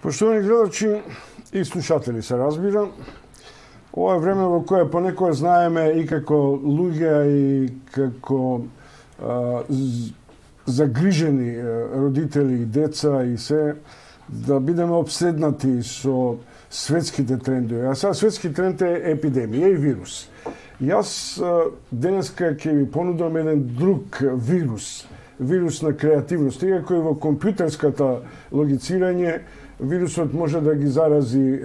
Поштовани гледачи и слушатели, се разбира, ова е време во кое понекогаш знаеме и како луѓе и како загрижени родители и деца и се, да бидеме обседнати со светските трендови. А сега светски тренд е епидемија и вирус. Јас денеска ќе ви понудам еден друг вирус, вирус на креативност, иако и во компјутерската логицирање вирусот може да ги зарази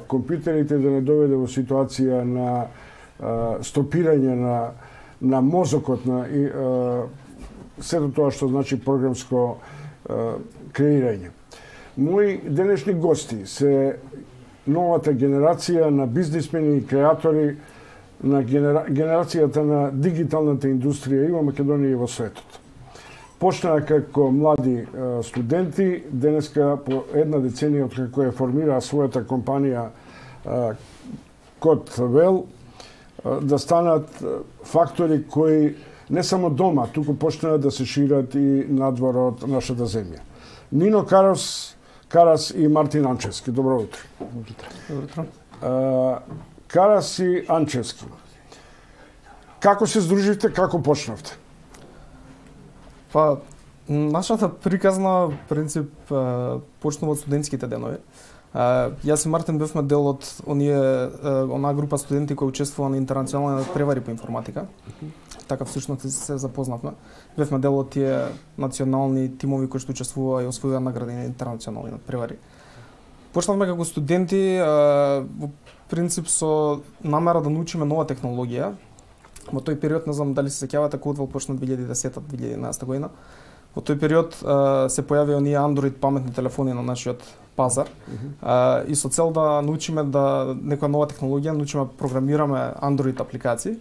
компјутерите, да не доведе во ситуација на стопирање на мозокот, на сето тоа што значи програмско креирање. Мои денешни гости се новата генерација на бизнисмени и креатори на генерацијата на дигиталната индустрија и во Македонија и во светот. Почнаа како млади студенти, денеска по една деценија од како ја формираа својата компанија Код Вел, да станат фактори кои не само дома, туку почнаа да се шират и надвор од нашата земја. Нино Карас и Мартин Анчевски. Добро утро. Добро утро. Карас и Анчевски. Како се здруживте, како почнавте? Па, нашата приказна принцип почнува од студентските денови. Јас и Мартин бевме дел од онаа група студенти кои учествува на интернационални превари по информатика. Така всушност се запознавме. Бевме дел од тие национални тимови кои што учествуваа и освојаа награди на интернационални превари. Почнавме како студенти во принцип со намера да научиме нова технологија. Во тој период, не знам дали се сеќавате, Кодвел почна 2010-2011 година. Во тој период се појавија оние Android паметни телефони на нашиот пазар. И со цел да научиме да некоја нова технологија, научиме програмираме Android апликации.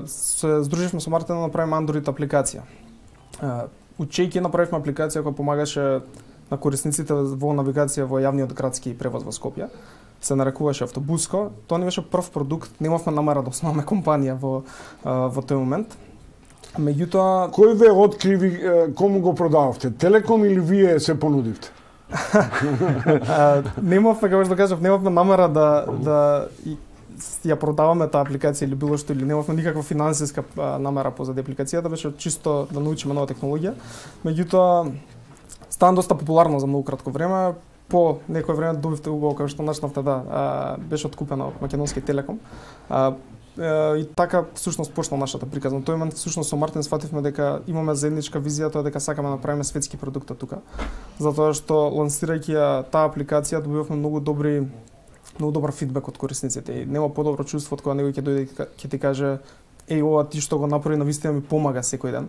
Се здруживме со Мартин да направиме Android апликација. Учејќи направивме апликација која помагаше на корисниците во навигација во јавниот градски превоз во Скопје. Се нарекуваше Автобуско. Тоа не беше прв продукт, немавме намера да основаме компанија во тој момент. Меѓутоа, кој ве откриви, кому го продававте? Телеком или вие се понудивте? Немавме, како што кажав, немавме намера да ја продаваме таа апликација или било што, или немавме никаква финансиска намера позади апликацијата, беше чисто да научиме нова технологија. Меѓутоа, стана доста популарно за многу кратко време. По некој време добивте угол како што начнавте беше откупена од Македонски Телеком. И така всушност почна нашата приказна. Тој момент всушност со Мартин сфативме дека имаме заедничка визија, тоа дека сакаме да направиме светски продукти тука. Затоа што лансирајќи ја таа апликација добивавме многу добар фидбек од корисниците. И нема подобро чувство од кога некој ќе дојде ќе ти каже еј ова ти што го направи навистина ми помага секој ден.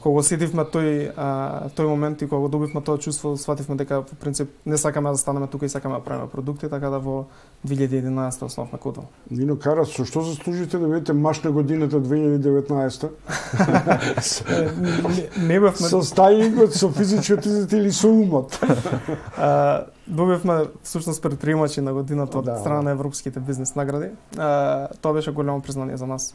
Кога го сетивме тој момент и кога го добивме тоа чувство, сфативме дека по принцип не сакаме да станеме тука и сакаме да правиме продукти, така да во 2011 основавме Кодвел. Нино Карас, со што заслужите да бидете маж на годината 2019? Не бевме со стајингот, со физичкиот изглед или со умот? Добивме всушност предприемачи на годината од страна на европските бизнес награди. Тоа беше голямо признание за нас.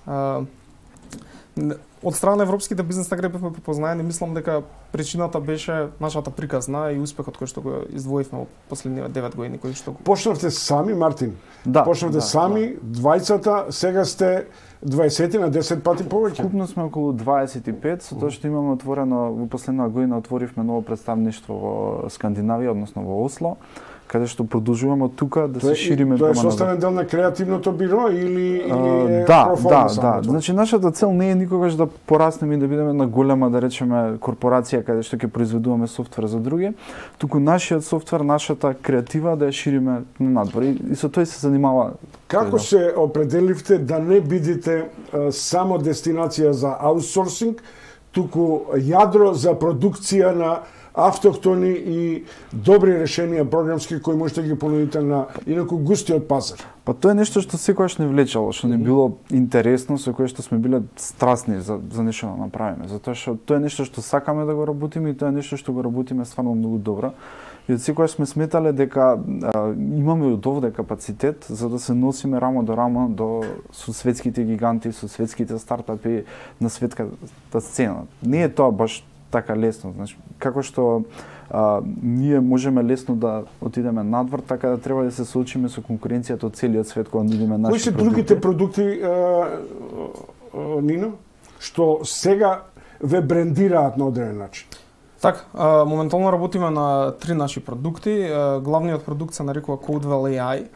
Од страна на европските бизнес награди бевме препознаени, мислам дека причината беше нашата приказна и успехот кој што го издвоивме во последниве 9 години кој што го... Почнавте сами, Мартин? Да. Почнавте сами, двајцата, сега сте 20 на 10 пати повеќе? Купно сме околу 25, со тоа што имаме отворено, во последна година отворивме ново представништво во Скандинавија, односно во Осло, каде што продолжуваме од тука да се шириме према надвор. Тоа е составен дел на креативното биро или е проформа само? Да. Значи нашата цел не е никогаш да пораснеме и да бидеме на голема, да речеме, корпорација каде што ќе произведуваме софтвер за други, туку нашиот софтвер, нашата креатива да ја шириме на надвор и со тој се занимава. Како се определивте да не бидете само дестинација за аутсорсинг, туку јадро за продукција на автохтони и добри решенија програмски кои можете да ги понудите на инаку густиот пазар? Па тоа е нешто што секогаш не влечело, што не било интересно, со кое што сме биле страстни за нешто да направиме, затоа што тоа е нешто што сакаме да го работиме и тоа е нешто што го работиме стварно многу добро. И од секогаш сме сметале дека имаме од овде капацитет за да се носиме рамо до рамо со светските гиганти, со светските стартапи на светската сцена. Не е тоа баш така лесно. Значи, како што ние можеме лесно да отидеме надвор, така да треба да се соочиме со конкуренцијата од целиот свет кога нудиме наши продукти. Кои се другите продукти, Нино, што сега ве брендираат на одреден начин? Така, моментално работиме на 3 наши продукти. Главниот продукт се нарекува Codewell AI.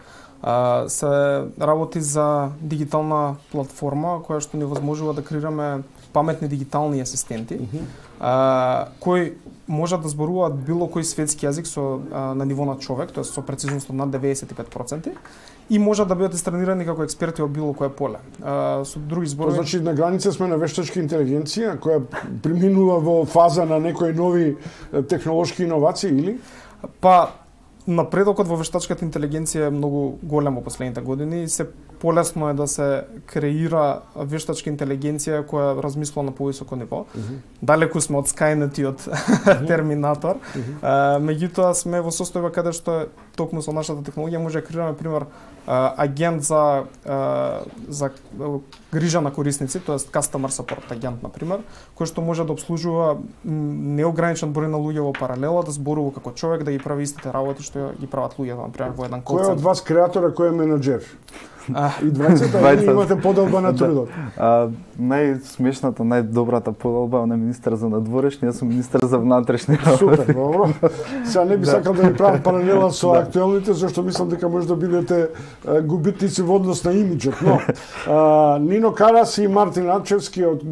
Се работи за дигитална платформа која што ни возможува да креираме паметни дигитални асистенти, кои можат да зборуваат било кој светски јазик на ниво на човек, тоа со прецизност од над 95%, и можат да бидат истренирани како експерти во било кое поле. Со други зборови, значи на граница сме на вештачка интелигенција која преминува во фаза на некои нови технолошки иновации или? Па напредокот во вештачката интелигенција е многу голем во последните години и се полесно е да се креира вештачка интелигенција која размислува на повисоко ниво. Далеку сме од Skynet и од Терминатор. Меѓутоа сме во состојба каде што токму со нашата технологија може да креираме пример агент за грижа на корисници, тоест customer support агент на пример, кој што може да обслужува неограничен број на луѓе во паралела, да зборува како човек, да ги прави истите работи што ги прават луѓето, на пример во еден кол центар. Кој од вас креатора, кој е менаџер? И двајцата имате поделба на трудот. Најсмешната, најдобрата поделба е министер за надворешни, јас сум министер за внатрешни работи. Супер, добро. Сега не би сакал да ви правам паралела со актуелните, зашто мислам дека може да бидете губитници во однос на имиџот, но Нино Карас и Мартин Ачевски од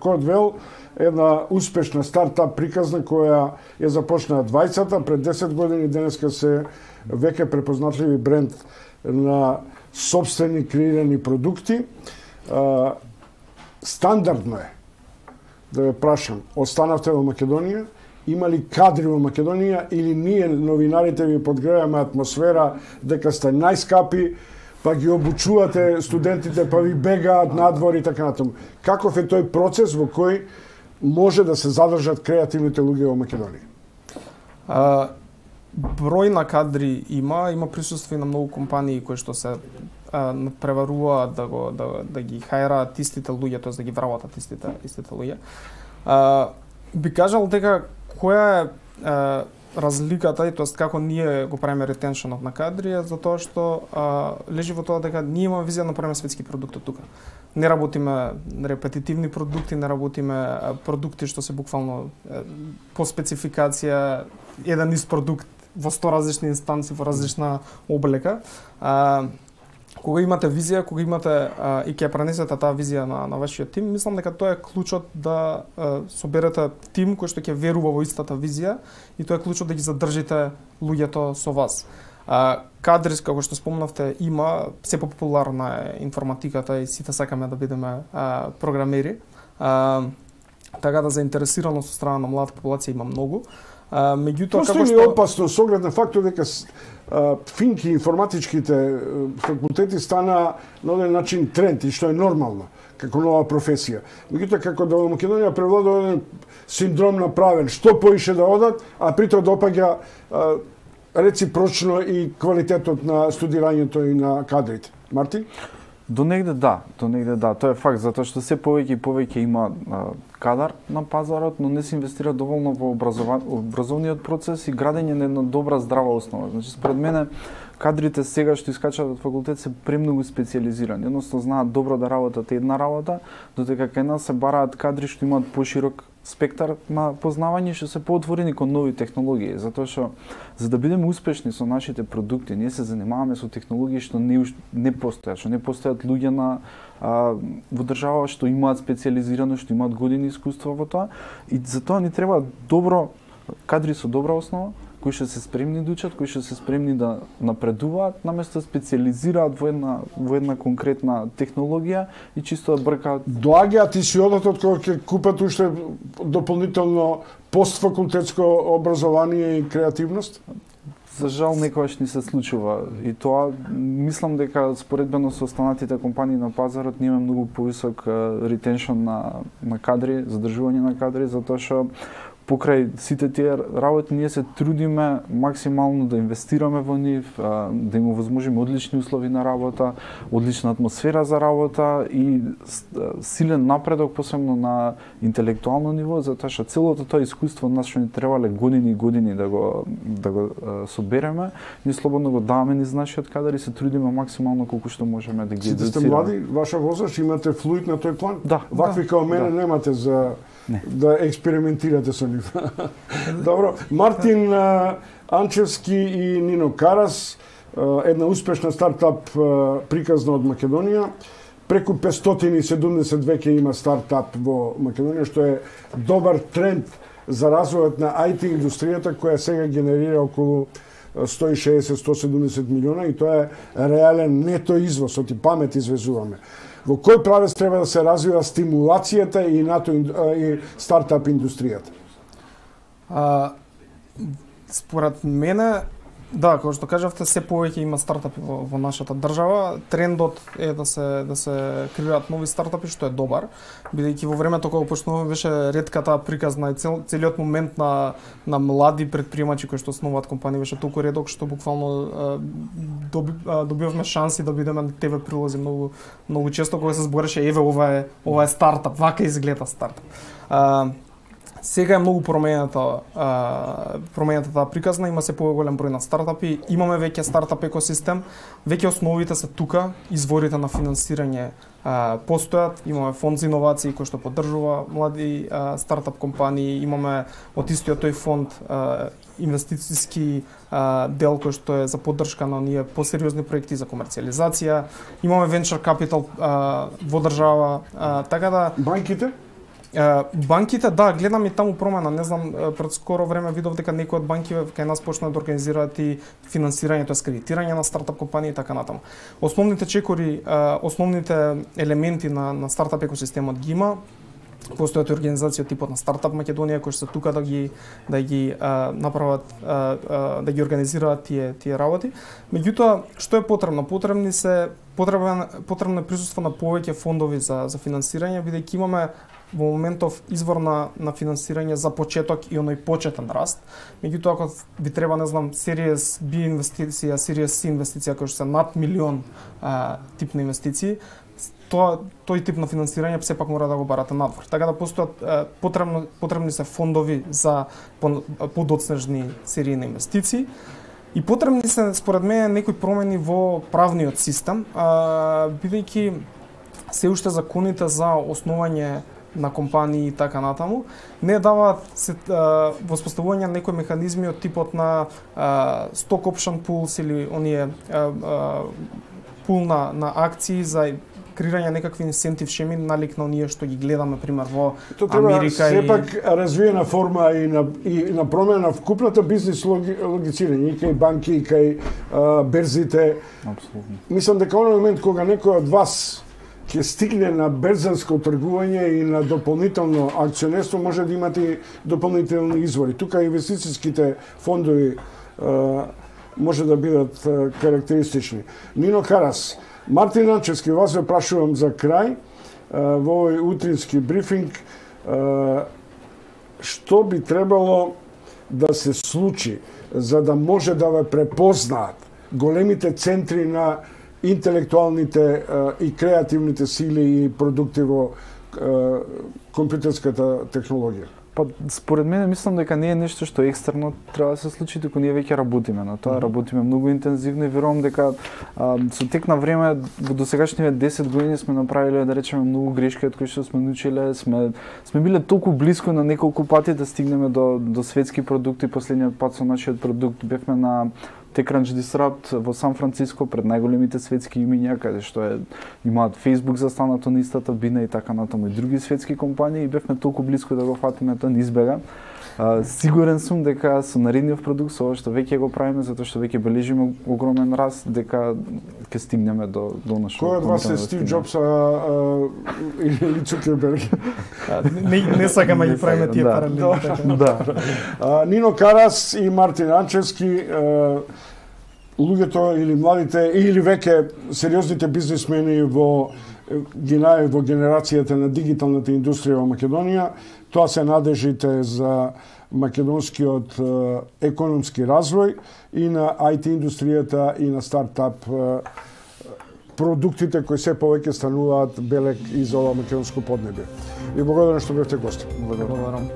Codewell, една успешна стартап приказна која ја започна 20-та, пред 10 години, денеска се веќе препознатливи бренд на собствени креирани продукти. Стандардно е да ве прашам, останавте во Македонија, има ли кадри во Македонија или ние новинарите ви подгреваме атмосфера дека сте најскапи, па ги обучувате студентите, па ви бегаат надвор и така натаму. Каков е тој процес во кој може да се задржат креативните луѓе во Македонија? Број на кадри има присуство и на многу компании кои што се преваруваат да ги хајраат истите луѓе, тоест да ги вработат истите луѓе. Би кажал дека која е разликата и тоест како ние го правиме ретеншенот на кадри е затоа што лежи во тоа дека ние имаме визија да направиме светски продукт од тука. Не работиме репетитивни продукти, не работиме продукти што се буквално по спецификација еден ист продукт во 100 различни инстанции, во различна облека. Кога имате визија, кога имате и ќе пренесете таа визија на вашиот тим, мислам дека тоа е клучот да соберете тим кој што ќе верува во истата визија и тоа е клучот да ги задржите луѓето со вас. Кадри, како што спомнавте, има, се популарна е информатиката и сите сакаме да бидеме програмери. Така да заинтересираност од страна на младата популација има многу. Меѓутоа како што е опасно со оглед на фактот дека финки информатичките факултети стана на оден начин тренд и што е нормално како нова професија. Меѓутоа како да во Македонија превладува еден синдром на правен, што поише да одат, а притоа допаѓа реципрочно и квалитетот на студирањето и на кадрите. Мартин? До негде да, тоа е факт, затоа што се повеќе и повеќе има кадар на пазарот, но не се инвестира доволно во образовниот процес и градење на една добра здрава основа. Значи според мене кадрите сега што искачаат од факултет се премногу специјализирани, односно знаат добро да работат една работа, додека кај нас се бараат кадри што имаат поширок спектар на познавање, што се поотворени кон нови технологии, затоа што за да бидеме успешни со нашите продукти, ние се занимаваме со технологии што не постојат луѓе во држава што имаат специјализирано, што имаат години искуство во тоа, и затоа ни треба кадри со добра основа, кои што се спремни да учат, кои што се спремни да напредуваат, наместо да специјализираат во една конкретна технологија и чисто да бркаат. Доаѓаат и си одат од кога ќе купат уште дополнително постфакултетско образование и креативност? За жал некогаш ни се случува и тоа мислам дека споредбено со останатите компании на пазарот ние имаме многу повисок ретеншн на кадри, задржување на кадри, затоа што покрај сите тие работи ние се трудиме максимално да инвестираме во нив, да им овозможиме одлични услови на работа, одлична атмосфера за работа и силен напредок посебно на интелектуално ниво, затоа што целото тоа искуство нас што ни требале години и години да го собереме, ние слободно го даваме низ нашиот кадар и се трудиме максимално колку што можеме да ги едуцираме. Сите сте млади, ваша возраст, имате флуид на тој план? Да. Вакви као мене немате за да експериментирате со нив. Добро, Мартин Анчевски и Нино Карас, една успешна стартап приказна од Македонија. Преку 570 веќе има стартап во Македонија, што е добар тренд за развојот на IT индустријата, која сега генерира околу 160-170 милиона и тоа е реален нето извоз, оти памет извезуваме. Во кој правец треба да се развива стимулацијата и стартап индустријата? Според мене, да, како што кажавте, се повеќе има стартапи во нашата држава. Трендот е да се креираат нови стартапи, што е добар, бидејќи во времето кога почнуваме беше ретката приказна и целиот момент на млади предприемачи кои што основаат компании беше толку редок што буквално добивавме шанси да бидеме на ТВ прилози многу често кога се збореше еве ова е стартап, вака изгледа стартап. Сега е многу променета таа приказна, има се поголем број на стартапи, имаме веќе стартап екосистем, веќе основите се тука, изворите на финансирање постојат, имаме фонд за иновации кој што поддржува млади стартап компании, имаме од истиот тој фонд инвестициски дел кој што е за поддршка на оние посериозни проекти за комерцијализација, имаме venture capital во држава, така да банките? Банките, да, гледам и таму промена, не знам, пред скоро време видов дека некои од банки кај нас почнаа да организираат и финансирањето, кредитирање на стартап компании и така натаму. Основните чекори, основните елементи на стартап екосистемот ги има. Постојат организации од типот на Стартап Македонија кои се тука да ги направат, да ги организираат тие работи. Меѓутоа, што е потребно? Потребно е присуство на повеќе фондови за финансирање, бидејќи имаме во моментов извор на финансирање за почеток и оној почетен раст. Меѓутоа, ако ви треба, не знам, Series B инвестиција, Series C инвестиција кои се над милион тип на инвестиции, тој тип на финансирање сепак мора да го барате надвор. Така да постојат потребни се фондови за подоцнежни серии на инвестиции и потребни се според мене некои промени во правниот систем, бидејќи се уште законите за основање на компании и така натаму не даваат воспоставување на некои механизми од типот на stock option pools или оние пул на акции за креирање некакви инсентив шеми налик на оние што ги гледаме пример во Америка и сепак развиена форма и на промена на вкупната бизнис логицирање и кај банки и кај берзите. Апсолутно. Мислам дека оној момент кога некој од вас ќе стигне на берзанско тргување и на дополнително акционерство, може да имате и дополнителни извори. Тука инвестицијските фондови може да бидат карактеристични. Нино Карас, Мартин Анчевски, вас ве прашувам за крај во овој утрински брифинг, што би требало да се случи за да може да ве препознаат големите центри на интелектуалните и креативните сили и продукти во компјутерската технологија? Па, според мене, мислам дека не е нешто што екстерно треба да се случи, туку ние веќе работиме на тоа, работиме многу интензивно и верувам дека со тек на време во досегашните 10 години сме направиле, да речеме, многу грешки од кои што сме научиле, сме биле толку блиско на неколку пати да стигнеме до светски продукти. Последниот пат со нашиот продукт бевме на TechCrunch Disrupt во Сан Франциско пред најголемите светски имиња, каде што имаат Facebook застанато на истата бина и така натаму и други светски компании, и бевме толку блиско да го фатиме, тоа не избега. Сигурен сум дека со наредниот продукт, со ова што веќе го правиме, затоа што веќе бележиме огромен раст, дека ќе стигнеме до нашо. Кој од вас е Стив Џобс или Цукерберг? Не сакаме да ги правиме тие паралели. Да. Нино Карас и Мартин Анчевски, луѓето или младите или веќе сериозните бизнисмени во генерацијата на дигиталната индустрија во Македонија, тоа се надежите за македонскиот економски развој и на IT индустријата и на стартап продуктите кои се повеќе стануваат белег и за ова македонско поднебје. И благодарам што бевте гости. Благодарам.